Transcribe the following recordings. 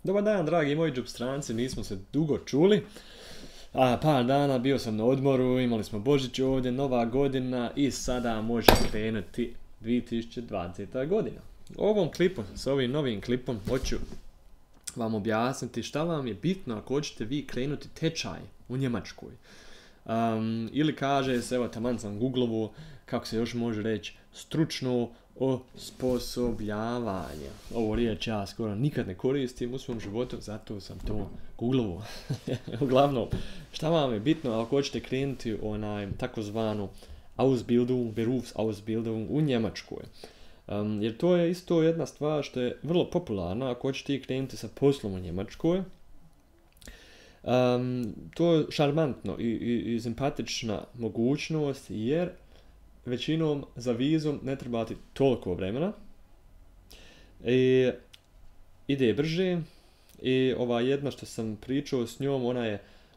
Dobar dan, dragi moji džopstranci, nismo se dugo čuli. Par dana bio sam na odmoru, imali smo Božić ovdje, Nova godina i sada može krenuti 2020. godina. Ovom klipu, s ovim novim klipom, hoću vam objasniti šta vam je bitno ako hoćete vi krenuti tečaj u Njemačkoj. Ili kaže se, evo taman sam googlovo, kako se još može reći, stručno osposobljavanje. Ovo riječ ja skoro nikad ne koristim u svom životu, zato sam to googlovo. Uglavnom, šta vam je bitno ako hoćete krenuti takozvanu Ausbildung, Berufsausbildung u Njemačkoj. Jer to je isto jedna stvar što je vrlo popularna ako hoćete krenuti sa poslom u Njemačkoj. To je šarmantno i simpatična mogućnost jer većinom za vizum ne trebati toliko vremena i ide brže i ova jedna što sam pričao s njom,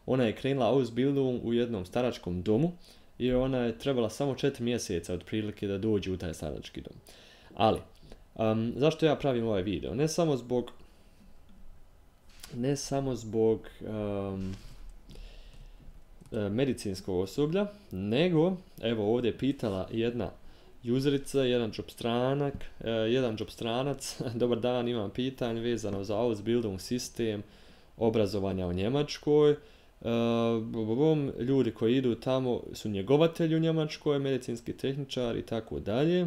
ona je krenula Ausbildung u jednom staračkom domu i ona je trebala samo 4 mjeseca otprilike da dođe u taj starački dom. Ali, zašto ja pravim ovaj video? Ne samo zbog medicinskog osoblja, nego, evo ovdje je pitala jedna userica, jedan džopstranac, dobar dan, imam pitanje vezano za Ausbildung sistem obrazovanja u Njemačkoj. Ljudi koji idu tamo su njegovatelji u Njemačkoj, medicinski tehničar i tako dalje.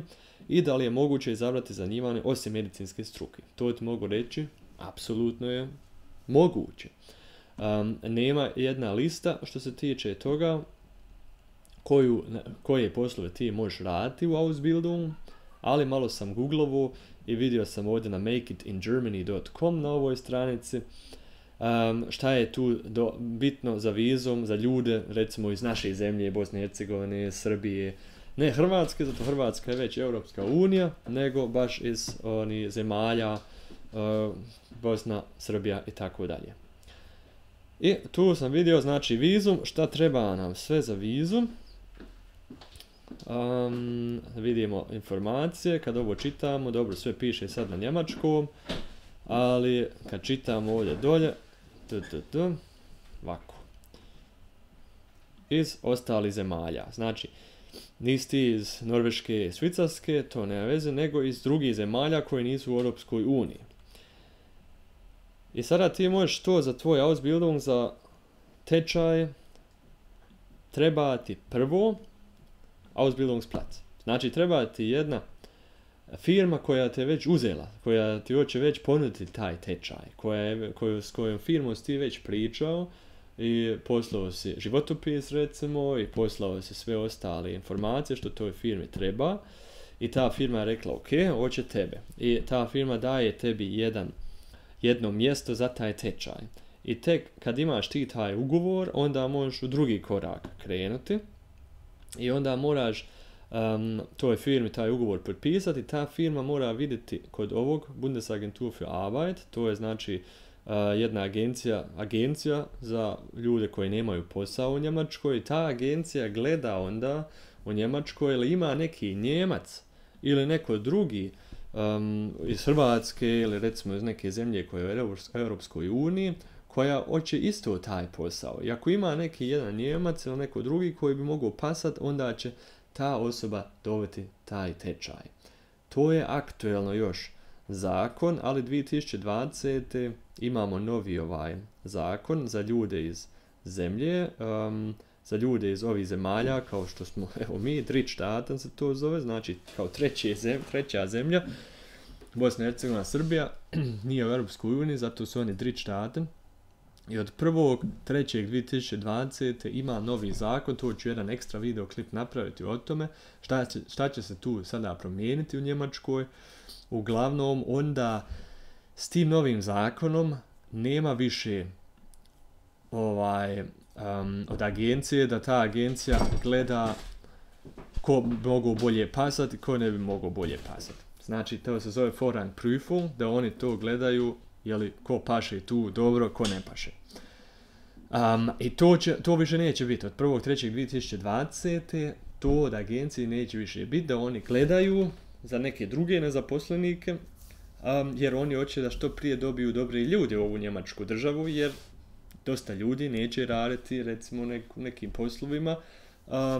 I da li je moguće izabrati zanimanje osim medicinske struke? To ti mogu reći, apsolutno je moguće. Nema jedna lista što se tiče toga koje poslove ti možeš raditi u Ausbildung, ali malo sam googlovo i vidio sam ovdje na makeitingermany.com na ovoj stranici šta je tu bitno za vizum za ljude recimo iz naše zemlje, Bosne i Hercegovine, Srbije, ne Hrvatske, zato Hrvatska je već Europska unija, nego baš iz zemalja Bosna, Srbija i tako dalje. I tu sam vidio, znači vizum, šta treba nam sve za vizum. Vidimo informacije, kad ovo čitamo, dobro sve piše sad na njemačkom, ali kad čitamo ovdje dolje, ovako, iz ostalih zemalja, znači nisi ti iz Norveške, Švicarske, to nema veze, nego iz drugih zemalja koji nisu u Europskoj uniji. I sada ti možeš to za tvoj Ausbildung, za tečaj, treba ti prvo Ausbildungsplatz. Znači treba ti jedna firma koja te već uzela, koja ti hoće već ponuditi taj tečaj, s kojom firmom si ti već pričao i poslao si životopis recimo i poslao si sve ostale informacije što toj firmi treba i ta firma je rekla ok, hoće tebe i ta firma daje tebi jedno mjesto za taj tečaj. I tek kad imaš ti taj ugovor, onda možeš u drugi korak krenuti i onda moraš toj firmi taj ugovor potpisati. Ta firma mora vidjeti kod ovog Bundesagentur für Arbeit, to je znači jedna agencija za ljude koji nemaju posao u Njemačkoj. Ta agencija gleda onda u Njemačkoj ili ima neki Njemac ili neko drugi iz Hrvatske ili recimo iz neke zemlje koja je u Europskoj uniji, koja hoće isto taj posao. I ako ima neki jedan Njemac ili neko drugi koji bi mogao pasati, onda će ta osoba dobiti taj tečaj. To je aktuelno još zakon, ali 2020. imamo novi zakon za ljude iz zemlje, za ljude iz ovih zemalja, kao što smo, evo mi, Drittstaaten se to zove, znači kao treća zemlja, Bosna i Hercegovina, Srbija, nije u Europskoj uniji, zato su oni Drittstaaten. I od 1.3.2020. ima novi zakon, to ću jedan ekstra videoklip napraviti o tome, šta će se tu sada promijeniti u Njemačkoj. Uglavnom, onda s tim novim zakonom nema više od agencije, da ta agencija gleda ko bi mogao bolje pasati, ko ne bi mogao bolje pasati. Znači, to se zove Vorrangprüfung, da oni to gledaju, jeli ko paše tu dobro, ko ne paše. I to više neće biti. Od 1.3.2020. to od agencije neće više biti, da oni gledaju za neke druge nezaposlenike jer oni hoće da što prije dobiju dobri ljudi u ovu njemačku državu, jer dosta ljudi neće raditi recimo nekim poslovima.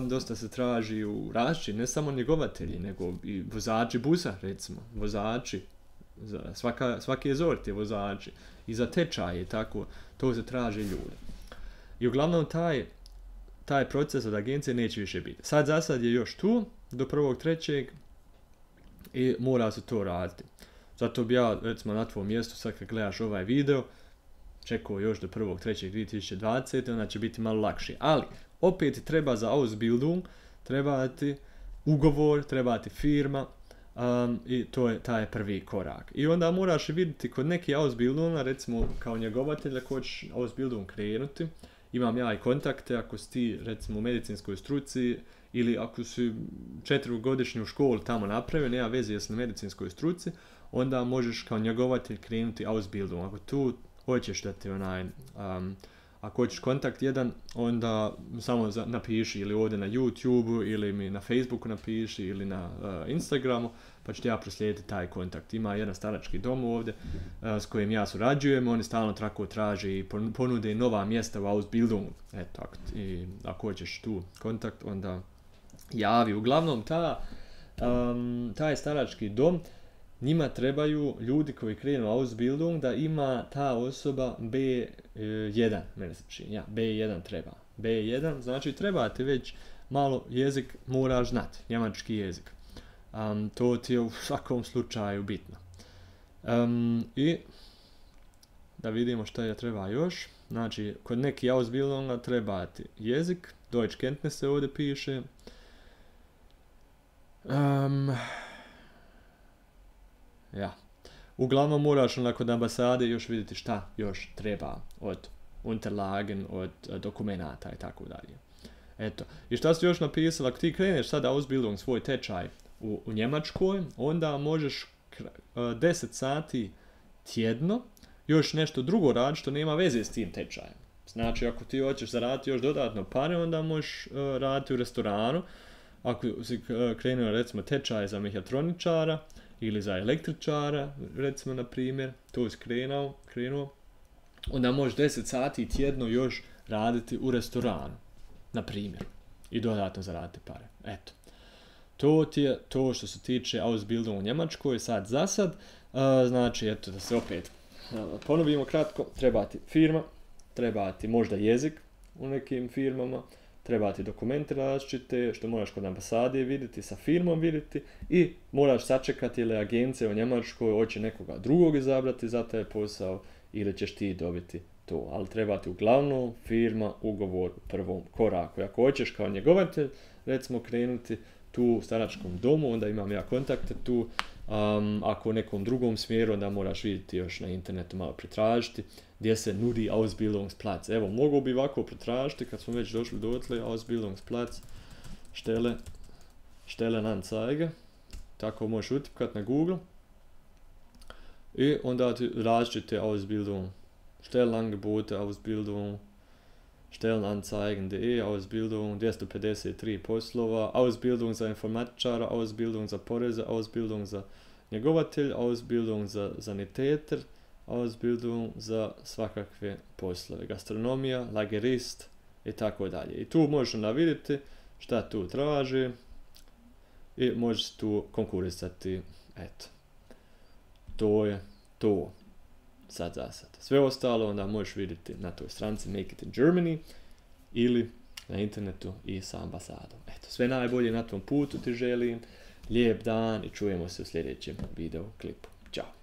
Dosta se traži u različiti, ne samo njegovatelji, nego i vozači busa, recimo, vozači, svaki je zort je vozači, i za tečaje, tako, to se traži ljude. I uglavnom taj proces od agencije neće više biti. Za sad je još tu, do 1.3. i mora se to raditi. Zato bi ja, recimo, na tvojom mjestu, sad kad gledaš ovaj video, čekao još do 1.3.2020. onda će biti malo lakše. Ali, opet treba za Ausbildung, treba ti ugovor, treba ti firma, i to je taj prvi korak. I onda moraš vidjeti kod neki Ausbildunga, recimo kao njegovatelj, ako hoćeš Ausbildung krenuti, imam ja i kontakte, ako si ti recimo u medicinskoj struci ili ako si 4-godišnju školu tamo napravio, nema veze jesi na medicinskoj struci, onda možeš kao njegovatelj krenuti Ausbildung. Ako tu hoćeš da ti ako hoćeš kontakt jedan, onda samo napiši ili ovdje na YouTube ili mi na Facebooku napiši ili na Instagramu, pa ću ti ja proslijediti taj kontakt. Ima jedan starački dom ovdje s kojim ja surađujem, oni stalno tako traže i ponude nova mjesta u Ausbildungu. Eto, ako hoćeš tu kontakt, onda javi. Uglavnom, taj starački dom, njima trebaju ljudi koji krenu Ausbildung da ima ta osoba B1, mene se čini, B1 treba. B1, znači treba ti već malo jezik moraš znati, njemački jezik. To ti je u svakom slučaju bitno. I da vidimo šta je treba još. Znači, kod neki Ausbildunga treba ti jezik, Deutschkenntnisse ovdje piše. Uglavnom moraš kod ambasade još vidjeti šta još treba od Unterlagen, od dokumenata i tako dalje. Eto. I šta si još napisala, ako ti kreneš sada Ausbildung svoj tečaj u Njemačkoj, onda možeš 10 sati tjedno još nešto drugo raditi što nema veze s tim tečajem. Znači, ako ti hoćeš zaraditi još dodatno pare, onda možeš raditi u restoranu. Ako si krenuo recimo tečaj za mehatroničara ili za električara, recimo na primjer, to si krenuo, onda možeš 10 sati tjedno još raditi u restoranu, na primjer, i dodatno zaraditi pare. Eto. To ti je to što se tiče Ausbildung u Njemačkoj, sad za sad. Znači, eto, da se opet ponovimo kratko, treba ti firma, treba ti možda jezik u nekim firmama, treba ti dokumenti različite, što moraš kod ambasade vidjeti, sa firmom vidjeti i moraš sačekati ili agencija u Njemačkoj hoće nekoga drugog izabrati za taj posao ili ćeš ti dobiti to. Ali treba ti uglavnom firma, ugovor u prvom koraku. Ako hoćeš kao njegovatelj, recimo krenuti tu u staračkom domu, onda imam ja kontakte tu. Ako u nekom drugom smjeru, onda moraš vidjeti još na internetu malo pretražiti gdje se nudi Ausbildungsplatz. Evo, mogu bi ovako pretražiti kad smo već došli dotle, Ausbildungsplatz, Stellenanzeige, tako možeš utipkat na Google i onda ti različite Ausbildung, Stellenangebote, Ausbildung, Stellenanzeigen.de, Ausbildung, 253 poslova, Ausbildung za informatičara, Ausbildung za poreze, Ausbildung za njegovatelj, Ausbildung za sanitäter, Ausbildung za svakakve poslove, gastronomija, lagerist i tako dalje. I tu možeš onda vidjeti šta tu traži i možeš tu konkurisati. Eto. To je to. Sad za sad. Sve ostalo onda možeš vidjeti na toj stranici Make It in Germany ili na internetu i sa ambasadom. Eto, sve najbolje na tom putu ti želim. Lijep dan i čujemo se u sljedećem video klipu. Ćao!